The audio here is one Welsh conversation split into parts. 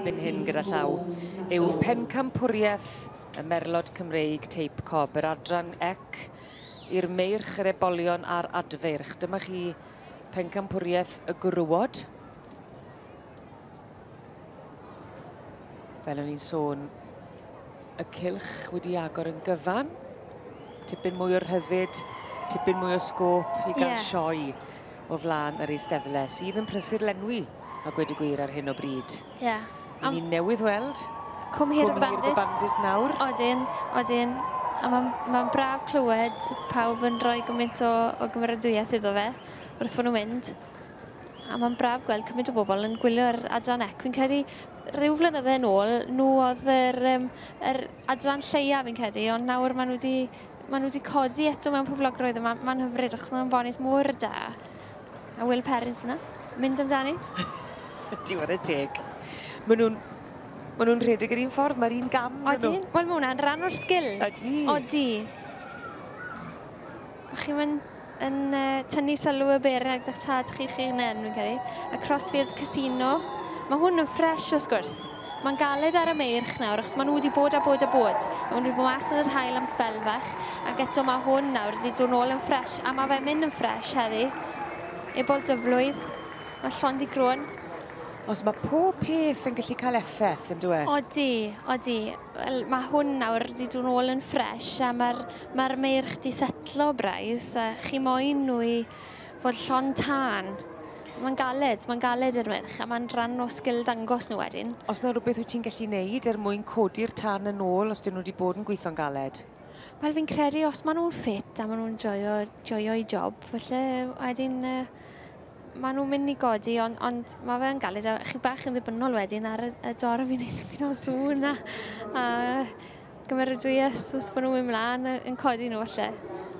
erbyn hyn gyda llaw yw pencampwriaeth y Merlod Cymreig Teip Cob, yr adran ec i'r meirch, yr ebolion a'r adfeirch. Dyma chi pencampwriaeth y gwrywod. Fel o'n i'n sôn, y cylch wedi agor yn gyfan. Tipyn mwy o rhyddid, tipyn mwy o sgôp i gael sioe o flaen yr eisteddle sydd yn prysur lenwi a gweud y gwir ar hyn o bryd. Ie. Yeah. Ni newydd weld Cwm Hir y Bandit. Bandit nawr. Odyn, odyn. A mae'n ma braf clywed pawb yn rhoi gymaint o gymeradwyaeth iddo fe wrth fod nhw'n mynd. A mae'n braf gweld cymaint o bobl yn gwylio'r adran ec. Fi'n credu rhyw flynydde yn ôl, nhw oedd yr adran lleia fi'n credu, ond nawr maen nhw wedi codi eto mewn poblogrwydd a mae'n ma hyfryd achos maen nhw'n bonis mor da. A Will Perrins fyna, mynd amdani. Diwedd y teg. Maen nhw'n ma nhw rhedeg yr un ffordd, mae'r un gam. Odyn, wel mae hwnna'n rhan o'r sgil. Ydy. Odi. Chi'n mynd yn tynnu sylw y beirniaid a'ch tad chi chi'n en, fi'n credu. A Crossfield Casino. Mae hwn yn ffres wrth gwrs. Mae'n galed ar y meirch nawr, achos maen nhw wedi bod a bod a bod. Maen nhw wedi bod mas yn yr haul am sbel fach, ac eto mae hwn nawr wedi dod nôl yn ffres, a mae fe'n mynd yn ffres heddi. Ebol dyflwydd, mae llond i grwn. Os mae pob peth yn gallu cael effaith, yn dweud? Odi, odi. Wel, mae hwn nawr wedi dod nôl yn ffres a mae'r ma meirch di setlo braidd a chi moyn nhw i fod llond tân. Mae'n galed i'r meirch a mae'n rhan o sgil dangos nhw wedyn. Os na rhywbeth wyt ti'n gallu neud er mwyn codi'r tân yn ôl os dyn nhw wedi bod yn gweithio'n galed? Wel, fi'n credu os maen nhw'n ffit a maen nhw'n joio job, felly wedyn maen nhw'n mynd i godi, ond mae fe'n galed a chi bach yn ddibynnol wedyn ar y dorf i wneud tipyn o sŵn a gymeradwyaeth os bod nhw'n mynd mlaen yn codi nhw falle.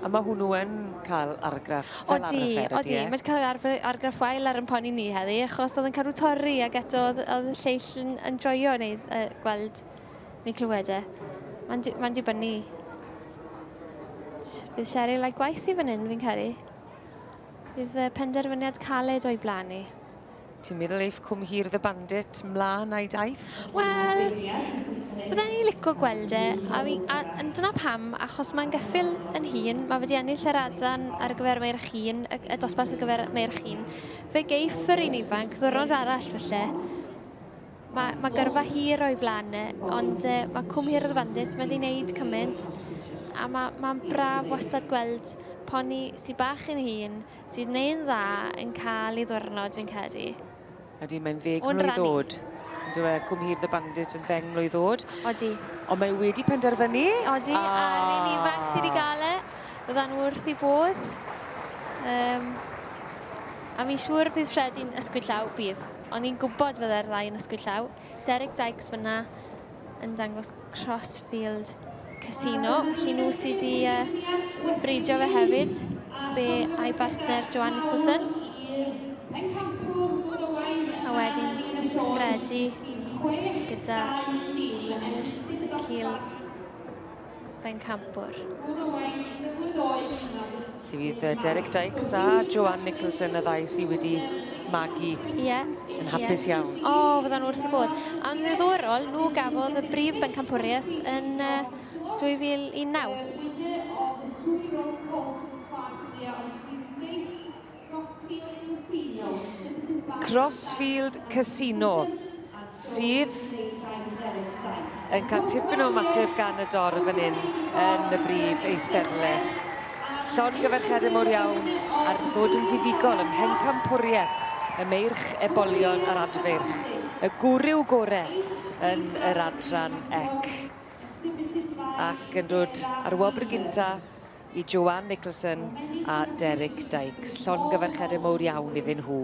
A mae hwnnw yn cael argraff fel odi, arfer, odi, e? Mae wedi cael argraff wael ar yn poni ni heddi, achos oedd yn cadw torri ac eto oedd y lleill yn joio neu gweld neu clywed e. Mae'n di, ma dibynnu. Bydd Cheryl a'i gwaith i fan hyn, fi'n credu. Bydd penderfyniad caled o'i blaen ni. Ti'n meddwl eiff Cwm Hir the Bandit mlaen a'i daith? Wel, bydden ni'n licio gweld e, a dyna pam, achos mae'n geffyl yn hun, mae wedi ennill yr adran ar gyfer meirch hŷn, y dosbarth ar gyfer meirch hŷn. Fe geiff yr un ifanc ddwrnod arall falle. Mae gyrfa hir o'i flaen e, ond mae Cwm Hir the Bandit, mae wedi wneud cymaint, a mae'n ma braf wastad gweld poni sy'n bach yn hŷn, sydd wneud dda yn cael ei ddwrnod, fi'n credu. Ydy, mae'n 10 O'n mlwydd rannu. oed. Yndw e, Cwm Hir the Bandit yn 10 mlwydd oed. Odi. Ond mae wedi penderfynu. Odi, a'r un ifanc sydd wedi gael e, fyddan nhw wrth i bodd. A fi'n siŵr bydd Freddie'n ysgwyd llaw, bydd. O'n i'n gwybod fydde'r ddau yn ysgwyd llaw. Derek Dykes fyna yn dangos Crossfield Casino. Felly nhw sydd wedi bridio fe hefyd. Fe a'i bartner Joanne Nicholson. A wedyn Freddie gyda cil bencampwr. Felly fydd Derek Dykes a Joanne Nicholson y ddau sydd wedi magu yn hapus iawn. O, fyddan nhw wrth i bodd. A'n ddiddorol, nhw gafodd y brif bencampwriaeth yn 2009. Crossfield Casino sydd yn cael tipyn o ymateb gan y dorf fan hyn yn y brif eisteddle. Llongyfarchiadau mawr iawn ar ddod yn fuddugol ym mhencampwriaeth y meirch ebolion a'r adfeirch. Y gwryw gore yn yr adran ec. Ac yn dod ar wobr gynta i Joanne Nicholson a Derek Dykes. Llongyfarchiadau mawr iawn iddyn nhw.